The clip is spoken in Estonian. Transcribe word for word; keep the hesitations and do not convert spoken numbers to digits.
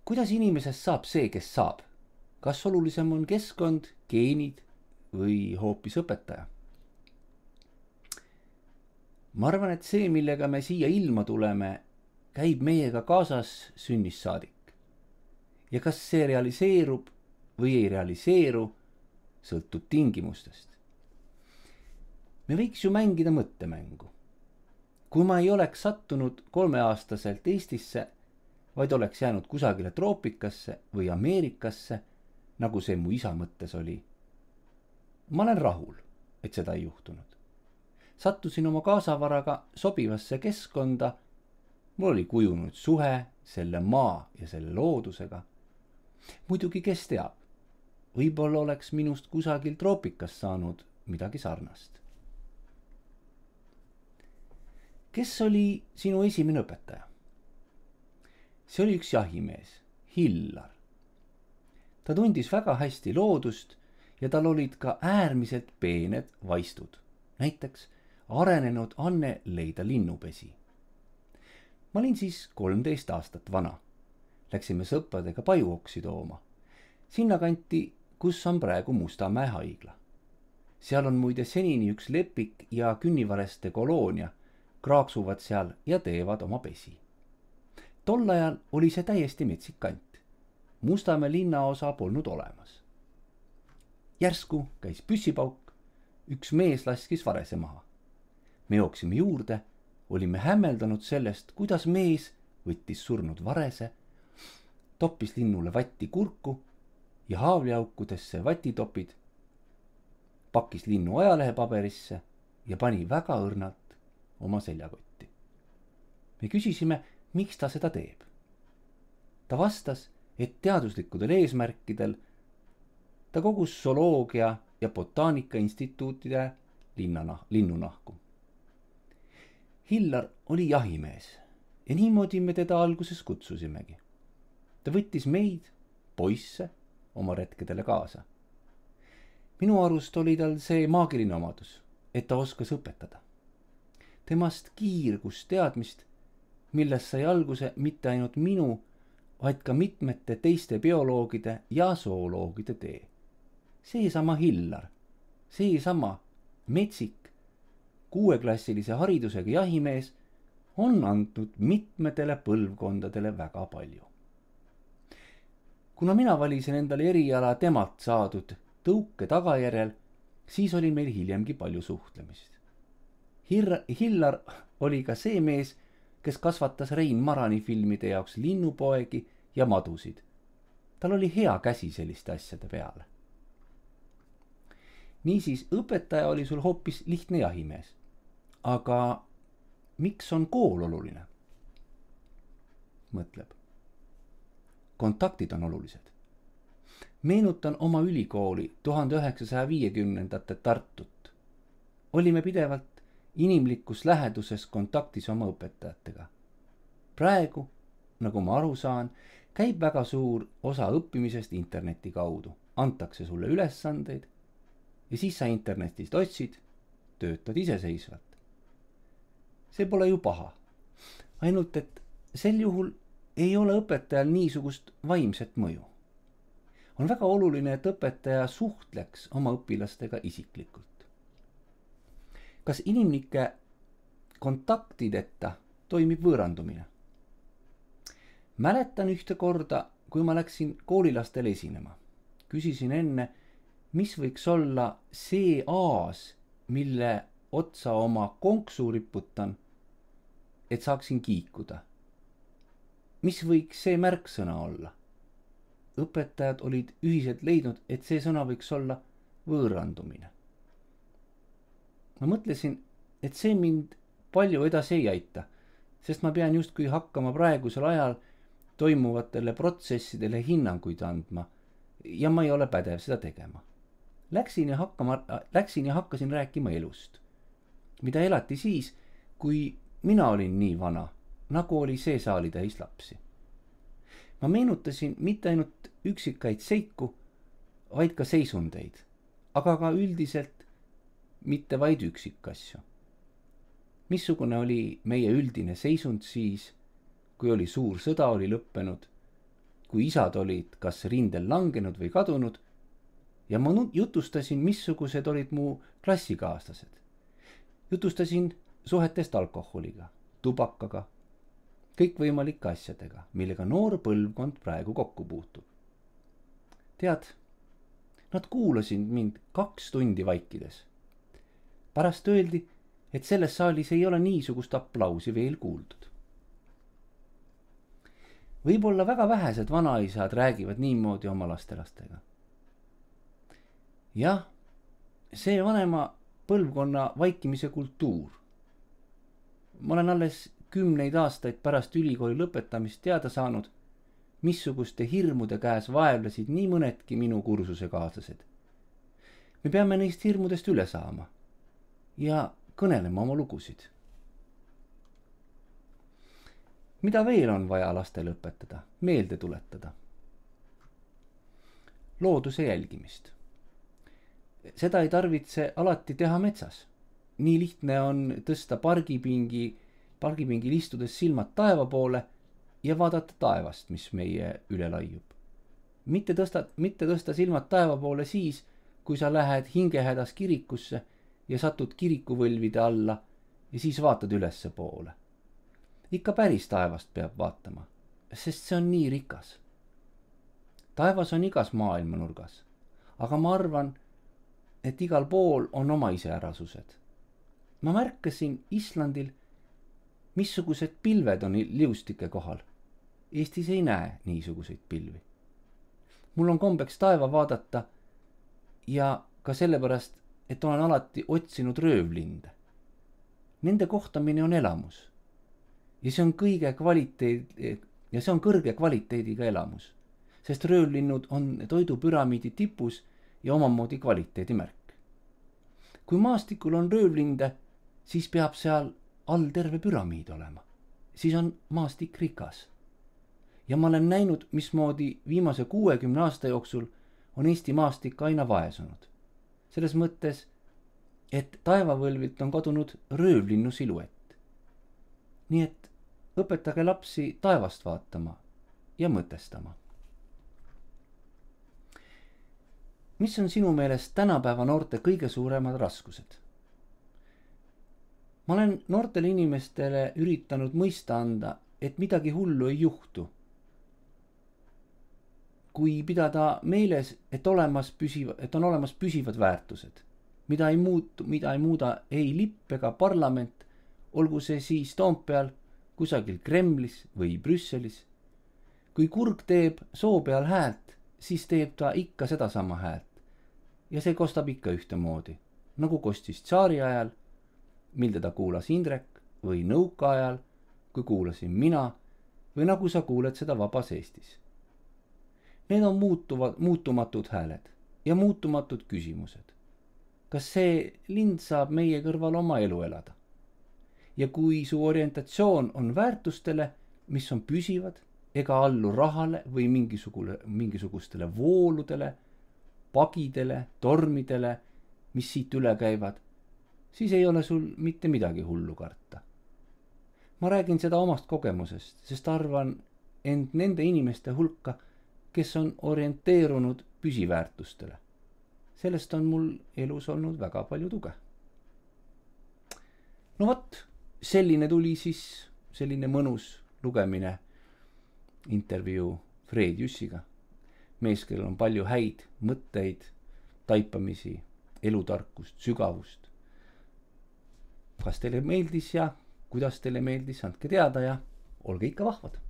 kuidas inimesest saab see, kes saab? Kas olulisem on keskkond, geenid või hoopis õpetaja? Ma arvan, et see, millega me siia ilma tuleme, käib meiega kaasas sünnist saadik. Ja kas see realiseerub või ei realiseeru, sõltub tingimustest. Me võiks ju mängida mõttemängu. Kui ma ei oleks sattunud kolmeaastaselt Eestisse, vaid oleks jäänud kusagile troopikasse või Ameerikasse, nagu see mu isa mõttes oli. Ma olen rahul, et seda ei juhtunud. Sattusin oma kaasavaraga sobivasse keskkonda, mul oli kujunud suhe selle maa ja selle loodusega. Muidugi, kes teab, võib-olla oleks minust kusagil troopikas saanud midagi sarnast. Kes oli sinu esimene õpetaja? See oli üks jahimees, Hillar. Ta tundis väga hästi loodust ja tal olid ka äärmiselt peened vaistud. Näiteks arenenud anne leida linnupesi. Ma olin siis kolmteist aastat vana. Läksime sõpradega pajuoksi tooma. Sinna kanti, kus on praegu Mustamäe haigla. Seal on muide senini üks lepik ja künnivareste koloonia, kraaksuvad seal ja teevad oma pesi. Tol ajal oli see täiesti metsik kant. Mustamäe linnaosa polnud olemas. Järsku käis püssipauk, üks mees laskis varese maha. Me jooksime juurde, olime hämmeldanud sellest, kuidas mees võttis surnud varese, toppis linnule vatti kurku ja haavliaukudesse vatitopid, pakkis linnu ajalehepaberisse ja pani väga õrnalt oma seljakotti. Me küsisime, miks ta seda teeb. Ta vastas, et teaduslikudel eesmärkidel ta kogus zooloogia ja botaanika instituutide linnana, linnunahku. Hillar oli jahimees ja niimoodi me teda alguses kutsusimegi. Ta võttis meid, poisse, oma retkedele kaasa. Minu arust oli tal see maagiline omadus, et ta oskas õpetada. Temast kiirgus teadmist, millest sai alguse mitte ainult minu, vaid ka mitmete teiste bioloogide ja zooloogide tee. Seesama Hillar, seesama metsik, kuueklassilise haridusega jahimees on andnud mitmetele põlvkondadele väga palju. Kuna mina valisin endale eriala temalt saadud tõuke tagajärjel, siis oli meil hiljemgi palju suhtlemist. Hir- Hillar oli ka see mees, kes kasvatas Rein Marani filmide jaoks linnupoegi ja madusid. Tal oli hea käsi selliste asjade peale. Niisiis, õpetaja oli sul hoopis lihtne jahimees. Aga miks on kool oluline? Mõtleb. Kontaktid on olulised. Meenutan oma ülikooli tuhande üheksasaja viiekümnendate Tartut. Olime pidevalt inimlikus läheduses kontaktis oma õpetajatega. Praegu, nagu ma aru saan, käib väga suur osa õppimisest interneti kaudu. Antakse sulle ülesandeid ja siis sa internetist otsid, töötad iseseisvalt. See pole ju paha. Ainult, et sel juhul ei ole õpetajal niisugust vaimset mõju. On väga oluline, et õpetaja suhtleks oma õpilastega isiklikult. Kas inimlike kontaktideta toimib võõrandumine? Mäletan ühte korda, kui ma läksin koolilastele esinema. Küsisin enne, mis võiks olla see aas, mille otsa oma konksu riputan, et saaksin kiikuda. Mis võiks see märksõna olla? Õpetajad olid ühiselt leidnud, et see sõna võiks olla võõrandumine. Ma mõtlesin, et see mind palju edasi ei aita, sest ma pean justkui hakkama praegusel ajal toimuvatele protsessidele hinnanguid andma ja ma ei ole pädev seda tegema. Läksin ja, hakkama, läksin ja hakkasin rääkima elust, mida elati siis, kui mina olin nii vana, nagu oli see saalitäis lapsi. Ma meenutasin mitte ainult üksikaid seiku, vaid ka seisundeid, aga ka üldiselt mitte vaid üksikasju. Missugune oli meie üldine seisund siis, kui oli suur sõda oli lõppenud kui isad olid kas rindel langenud või kadunud, ja ma jutustasin, missugused olid mu klassikaaslased. Jutustasin suhetest alkoholiga, tubakaga, kõikvõimalike asjadega, millega noor põlvkond praegu kokku puutub. Tead, nad kuulasid mind kaks tundi vaikides. Pärast öeldi, et selles saalis ei ole niisugust aplausi veel kuuldud. Võib-olla väga vähesed vanaisad räägivad niimoodi oma lastelastega. Jah, see vanema põlvkonna vaikimise kultuur. Ma olen alles kümneid aastaid pärast ülikooli lõpetamist teada saanud, missuguste hirmude käes vaevlesid nii mõnedki minu kursuse kaaslased. Me peame neist hirmudest üle saama ja kõnelema oma lugusid. Mida veel on vaja lastele õpetada, meelde tuletada? Looduse jälgimist. Seda ei tarvitse alati teha metsas. Nii lihtne on tõsta pargipingi, pargipingil istudes silmad taeva poole ja vaadata taevast, mis meie üle laiub. Mitte tõsta, mitte tõsta silmad taeva poole siis, kui sa lähed hingehädas kirikusse ja satud kirikuvõlvide alla ja siis vaatad ülesse poole. Ikka päris taevast peab vaatama, sest see on nii rikas. Taevas on igas maailma nurgas, aga ma arvan, et igal pool on oma iseärasused. Ma märkasin Islandil, missugused pilved on liustike kohal. Eestis ei näe niisuguseid pilvi. Mul on kombeks taeva vaadata ja ka sellepärast, et olen alati otsinud röövlinde. Nende kohtamine on elamus. Ja see on kõige kvaliteed, ja see on kõrge kvaliteediga elamus, sest röövlinnud on toidupüramiidi tipus ja omamoodi kvaliteedi märk. Kui maastikul on röövlinde, siis peab seal all terve püramiid olema. Siis on maastik rikas. Ja ma olen näinud, mismoodi viimase kuuekümne aasta jooksul on Eesti maastik aina vaesunud. Selles mõttes, et taevavõlvilt on kadunud röövlinnu siluett. Nii et õpetage lapsi taevast vaatama ja mõtestama. Mis on sinu meelest tänapäeva noorte kõige suuremad raskused? Ma olen noortele inimestele üritanud mõista anda, et midagi hullu ei juhtu. Kui pidada meeles, et, olemas püsiva, et on olemas püsivad väärtused, mida ei, muutu, mida ei muuda ei lipp ega parlament, olgu see siis Toompeal, kusagil Kremlis või Brüsselis. Kui kurg teeb soo peal häält, siis teeb ta ikka sedasama häält. Ja see kostab ikka ühtemoodi, nagu kostis tsaari ajal, mil teda kuulas Indrek, või nõuka ajal, kui kuulasin mina, või nagu sa kuuled seda vabas Eestis. Need on muutuvad, muutumatud hääled ja muutumatud küsimused. Kas see lind saab meie kõrval oma elu elada? Ja kui su orientatsioon on väärtustele, mis on püsivad, ega allu rahale või mingisugustele vooludele, pagidele, tormidele, mis siit üle käivad, siis ei ole sul mitte midagi hullu karta. Ma räägin seda omast kogemusest, sest arvan end nende inimeste hulka, kes on orienteerunud püsiväärtustele. Sellest on mul elus olnud väga palju tuge. No võt, selline tuli siis selline mõnus lugemine, intervjuu Fred Jüssiga. Mees, kellel on palju häid mõtteid, taipamisi, elutarkust, sügavust. Kas teile meeldis ja kuidas teile meeldis, andke teada ja olge ikka vahvad.